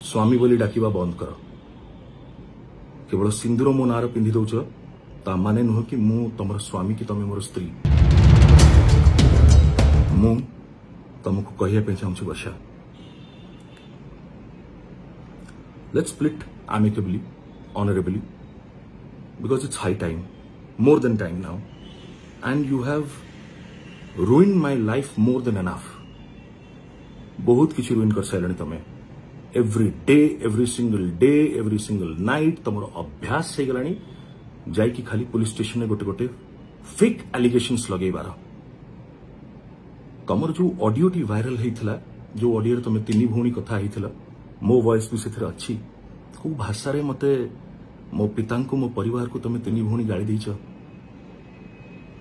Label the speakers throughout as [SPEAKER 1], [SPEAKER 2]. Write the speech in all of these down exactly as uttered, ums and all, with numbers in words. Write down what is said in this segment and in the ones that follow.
[SPEAKER 1] ସ୍ୱାମୀ ବୋଲି ଡାକିବା ବନ୍ଦ କର। କେବଳ ସିନ୍ଦୁର ମୋ ନାଁରେ ପିନ୍ଧି ଦଉଛ ତା ମାନେ ନୁହଁ କି ମୁଁ ତମର ସ୍ୱାମୀ କି ତମେ ମୋର ସ୍ତ୍ରୀ। ମୁଁ ତମକୁ କହିବା ପାଇଁ ଚାହୁଁଛି ବର୍ଷା, let's split amicably, honorably, because it's high time, more than time now, and you have ruined my life more than enough. ବହୁତ କିଛି ruin କରିସାରିଲଣି ତମେ। Every day, every single day, every single night ତମର ଅଭ୍ୟାସ ହେଇଗଲାଣି ଯାଇକି ଖାଲି ପୋଲିସ ଷ୍ଟେସନରେ ଗୋଟେ ଗୋଟେ ଫେକ୍ ଆଲିଗେସନ୍ସ ଲଗେଇବାର। ତମର ଯୋଉ ଅଡିଓଟି ଭାଇରାଲ ହେଇଥିଲା, ଯୋଉ ଅଡିଓରେ ତମେ ତିନି ଭଉଣୀ କଥା ହେଇଥିଲ, ମୋ ଭଏସ ବି ସେଥିରେ ଅଛି। କୋଉ ଭାଷାରେ ମତେ, ମୋ ପିତାଙ୍କୁ, ମୋ ପରିବାରକୁ ତମେ ତିନି ଭଉଣୀ ଗାଳି ଦେଇଛ,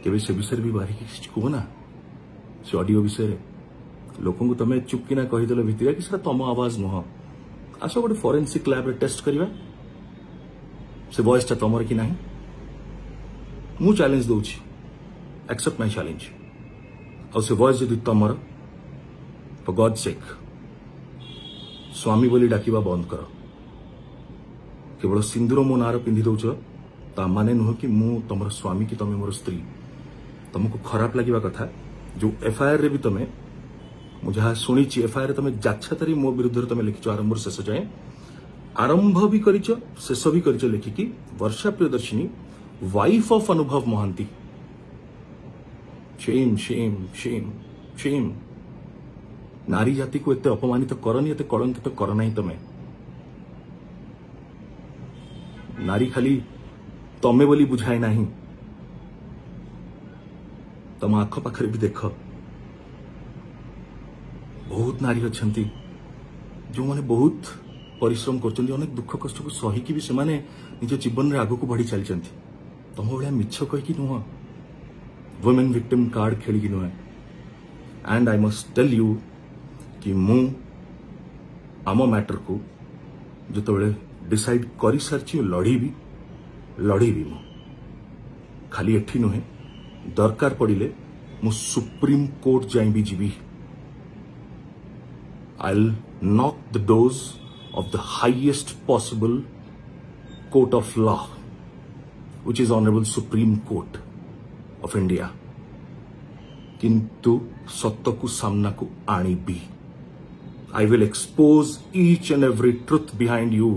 [SPEAKER 1] କେବେ ସେ ବିଷୟରେ ବି ବାହାରିକି କିଛି କୁହ ନା। ସେ ଅଡିଓ ବିଷୟରେ ଲୋକଙ୍କୁ ତମେ ଚୁପକିନା କହିଦେଲ ଭିତିରିଆ କି ସେଟା ତମ ଆୱାଜ ନୁହଁ। ଆସ ଗୋଟେ ଫରେନ୍ସିକ ଲ୍ୟାବରେ ଟେଷ୍ଟ କରିବା ସେ ଭଏସଟା ତମର କି ନାହିଁ। ମୁଁ ଚ୍ୟାଲେଞ୍ଜ ଦଉଛି, ଆକ୍ସେପ୍ଟ ମାଇ ଚ୍ୟାଲେଞ୍ଜ। ଆଉ ସେ ଭଏସ ଯଦି ତମର, ଫର ଗଡ୍ ସେକ୍ ସ୍ୱାମୀ ବୋଲି ଡାକିବା ବନ୍ଦ କର। କେବଳ ସିନ୍ଦୁର ମୋ ନାଁରେ ପିନ୍ଧି ଦଉଛ ତା ମାନେ ନୁହଁ କି ମୁଁ ତମର ସ୍ୱାମୀ କି ତମେ ମୋର ସ୍ତ୍ରୀ। ତମକୁ ଖରାପ ଲାଗିବା କଥା ଯୋଉ ଏଫଆଇଆର ରେ ବି ତମେ, ମୁଁ ଯାହା ଶୁଣିଛି ଏଫଆଇଆର ରେ ତମେ ଯାଚ୍ଛାତାରି ମୋ ବିରୁଦ୍ଧରେ ତମେ ଲେଖିଛ ଆରମ୍ଭରୁ ଶେଷ ଯାଏଁ, ଆରମ୍ଭ ବି କରିଛ ଶେଷ ବି କରିଛ ଲେଖିକି ବର୍ଷା Priyadarshini wife of Anubhav Mohanty. Shame, shame, shame, shame. ନାରୀ ଜାତିକୁ ଏତେ ଅପମାନିତ କରନି, ଏତେ କଳଙ୍କିତ କର ନାହିଁ ତମେ। ନାରୀ ଖାଲି ତମେ ବୋଲି ବୁଝାଏ ନାହିଁ, ତମ ଆଖପାଖରେ ବି ଦେଖ ବହୁତ ନାରୀ ଅଛନ୍ତି ଯେଉଁମାନେ ବହୁତ ପରିଶ୍ରମ କରୁଛନ୍ତି, ଅନେକ ଦୁଃଖ କଷ୍ଟକୁ ସହିକି ବି ସେମାନେ ନିଜ ଜୀବନରେ ଆଗକୁ ବଢି ଚାଲିଛନ୍ତି। ତମ ଭଳିଆ ମିଛ କହିକି ନୁହଁ, ୱିମେନ୍ ଭିକ୍ଟିମ୍ କାର୍ଡ ଖେଳିକି ନୁହେଁ। And I must tell you କି ମୁଁ ଆମ ମ୍ୟାଟରକୁ ଯେତେବେଳେ ଡିସାଇଡ୍ କରିସାରିଛି ଲଢ଼ିବି, ଲଢ଼ିବି ମୁଁ। ଖାଲି ଏଠି ନୁହେଁ, ଦରକାର ପଡ଼ିଲେ ମୁଁ ସୁପ୍ରିମ କୋର୍ଟ ଯାଏଁ ବି ଯିବି। I'll knock the doors of the highest possible court of law, which is Honorable Supreme Court of India. କିନ୍ତୁ ସତକୁ ସାମ୍ନାକୁ ଆଣିବି। I will expose each and every truth behind you.